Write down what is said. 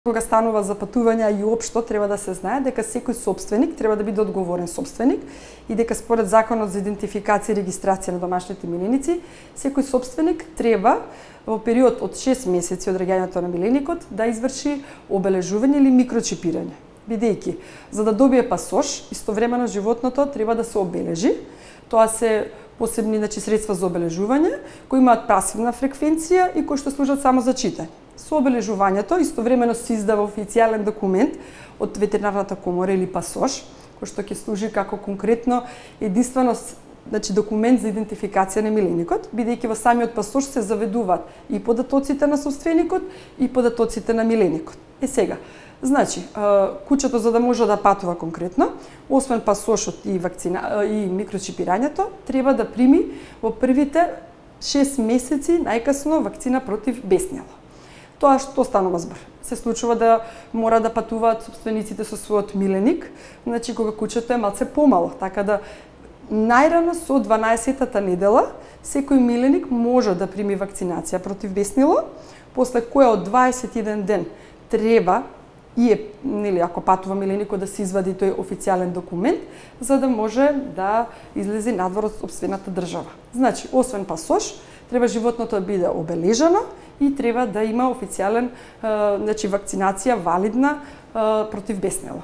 Кога станува за патувања и општо треба да се знае дека секој сопственик треба да биде одговорен сопственик и дека според Законот за идентификација и регистрација на домашните миленици, секој сопственик треба во период од 6 месеци од раѓањето на миленикот да изврши обележување или микрочипирање. Бидејќи за да добие пасош, истовремено животното треба да се обележи. Тоа се посебни средства за обележување кои имаат пасивна фреквенција и кои што служат само за читање. Со обележувањето истовремено се издава официјален документ од ветеринарната комора или пасош, кој што ќе служи како конкретно единствено документ за идентификација на миленикот, бидејќи во самиот пасош се заведуваат и податоците на собственикот и податоците на миленикот. Сега, кучето за да може да патува конкретно, освен пасошот и микрочипирањето, треба да прими во првите 6 месеци најкасно вакцина против беснело. Тоа што станува збор? Се случува да мора да патуваат собствениците со својот миленик, кога кучето е малце помало, така да најрано со 12-тата недела секој миленик може да прими вакцинација против беснило, после која од 21 ден треба ако патува миленикот да се извади тој официјален документ за да може да излезе надвор од сопствената држава. Освен пасош, треба животното да биде обележано и треба да има официјален вакцинација валидна против беснело.